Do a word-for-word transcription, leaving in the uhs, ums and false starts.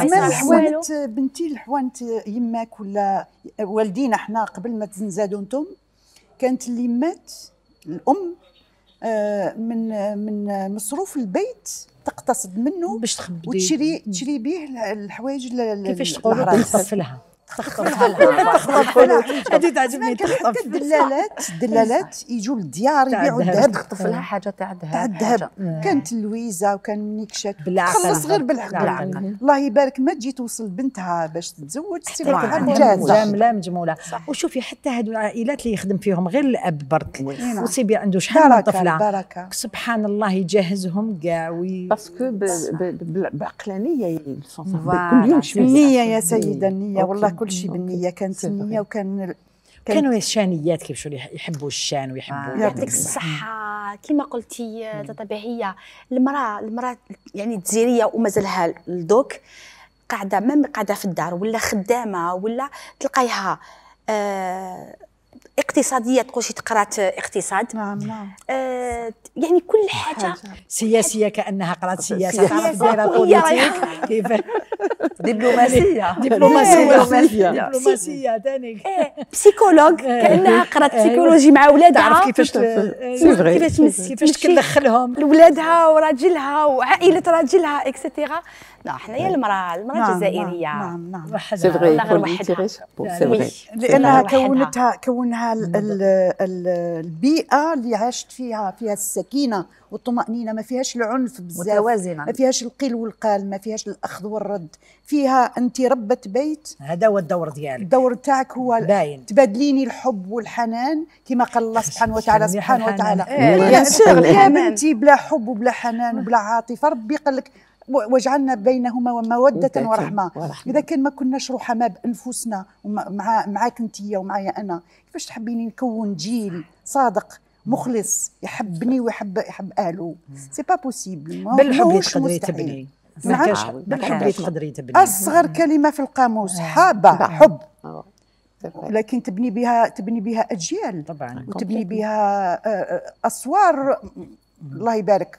زعما الحوانت بنتي الحوانت يماك ولا والدينا حنا قبل ما تنزادوا نتوما كانت اللي مات الام من من مصروف البيت تقتصد منه باش تخبي وتشري تشري به الحوايج. كيفاش تقولوا تخطف لها تخطف لها تخطف لها هذه تعجبني. حتى الدلالات الدلالات يجوا للديار يبيعوا الذهب، تخطف لها حاجه تاع تاع الذهب. كانت اللويزه وكان منيكشات خلص غير بالعقل. الله يبارك ما تجي توصل بنتها باش تتزوج تسيب لها جاهزه لا مجموله. وشوفي حتى هادو العائلات اللي يخدم فيهم غير الاب برك وسيبي عنده شحال من طفله سبحان الله يجهزهم كاع وي باسكو بعقلانيه كل يوم النيه يا سيده النيه والله كل شيء بالنيه. كانت النية وكان كانوا الشانيات كيف شو يحبوا الشان ويحبوا. يعطيك الصحة. كما قلتي تاتا بهية المرأة المرأة يعني الجزائرية ومازالها لدوك قاعدة ما قاعدة في الدار ولا خدامة ولا تلقايها آه اقتصاديه تقول شي قرات اقتصاد. نعم نعم. آه يعني كل حاجه سياسيه كانها قرات سياسه تعرف دايره بوليتيك كيف دبلوماسيه دبلوماسيه دبلوماسيه ثاني بسيكولوج كانها قرات بسيكولوجي مع ولادها تعرف كيفاش كيفاش كيفاش تدخلهم لولادها وراجلها وعائله راجلها اكسترا. لا حنايا المراه المراه الجزائريه نعم نعم سي فري لانها كونتها كونها البيئه اللي عاشت فيها فيها السكينه والطمانينه، ما فيهاش العنف بزاف، متوازنه، ما فيهاش القيل والقال، ما فيهاش الاخذ والرد، فيها انت ربة بيت. هذا هو الدور ديالك. الدور تاعك هو باين تبادليني الحب والحنان كما قال الله سبحانه وتعالى. سبحانه وتعالى يا بنتي بلا حب وبلا حنان وبلا عاطفه ربي قال لك وجعلنا بينهما ومودة ورحمة. إذا كان ما كناش رحماء بأنفسنا ومع معاك أنتيا ومعايا أنا، كيفاش تحبيني نكون جيل صادق مخلص يحبني ويحب يحب أهله؟ سي با بوسيبل. بالحب اللي تقدري تبني، ما كاش بالحب اللي تقدري تبني. أصغر كلمة في القاموس حابة حب، لكن تبني بها تبني بها أجيال طبعا، وتبني بها أسوار. الله يبارك.